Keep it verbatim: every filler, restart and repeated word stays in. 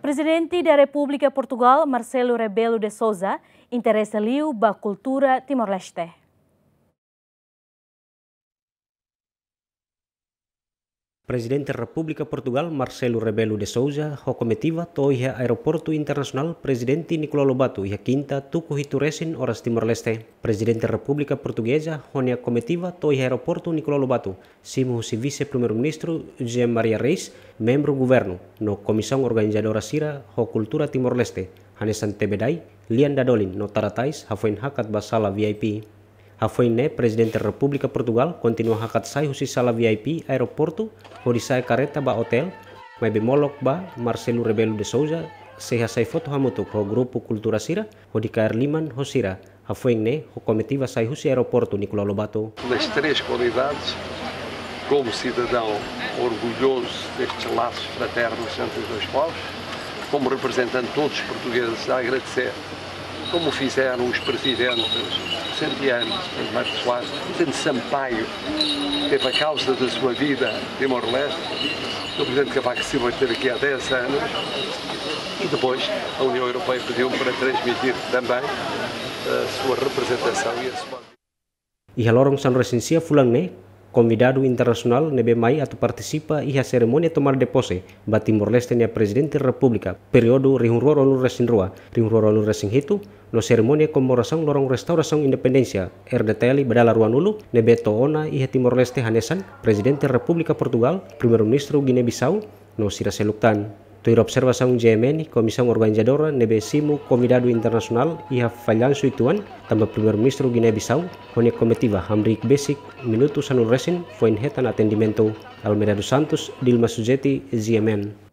Prezidente da Repúblika Portugál, Marcelo Rebelo de Sousa, interesa liu ba kultura Timor-Leste. Prezidente Repúblika Portugál, Marcelo Rebelo de Sousa, ho komitiva to'o iha Aeroportu Internasionál Prezidente Nicolau Lobato iha Kinta, tuku hitu resin oras Timor-Leste. Prezidente Repúblika Portugeza ho nia komitiva to'o iha Aeroportu Nicolau Lobato, simu husi Vise-Primeiru-Ministru José Maria Reis, membru governu, no komisaun organizadora sira ho kultura Timor-Leste, hanesan tebedai, lian dadolin no tara tais, hafoin hakat ba sala V I P. Hafoin ne'e, Prezidente Repúblika Portugál kontinua hakat sai husi sala V I P aeroportu, hodi sa'e kareta ba otél, maibé molok ba Marcelo Rebelo de Sousa sei hasai foto hamutuk ho grupu kultura sira, hodi kaer liman ho sira, hafoin ne'e ho komitiva sai husi Aeroportu Nicolau Lobato. Nas três qualidades, como cidadão orgulhoso destes laços fraternos entre os dois povos, como representante de todos os portugueses, a agradecer, como fizeram os presidentes Vicente Santos, Pedro Marcos Soares, Vicente Sampaio, teve a causa da sua vida Timor-Leste, o Presidente Cavaco Silva esteve aqui há dez anos, e depois a União Europeia pediu-me para transmitir também a sua representação e a sua Iha loron sanulu-resin-sia fulan ne'e, konvidadu internasionál ne'ebé mai atu partisipa iha serimónia tomada de pose ba Timor-Leste nia Prezidente Repúblika, períodu rihun rua ruanulu-resin-rua, rihun rua ruanulu-resin-hitu, no serimónia komemorasaun loron restaurasaun independénsia, R D T L, ba dala ruanulu, ne'ebé to'o ona iha Timor-Leste hanesan Prezidente Repúblika Portugál, Primeiru-Ministru Guiné-Bissau, no sira seluk tan. Tuir observasaun G M N, komisaun organizadora ne'ebé simu konvidadu internasionál iha fallansu uitoan, tanba Primeiru-Ministru Guiné-Bissau ho nia komitiva hamriik besik minutu sanulu-resin foin hetan atendimentu. Almeida dos Santos, Dilma Suzeti, G M N.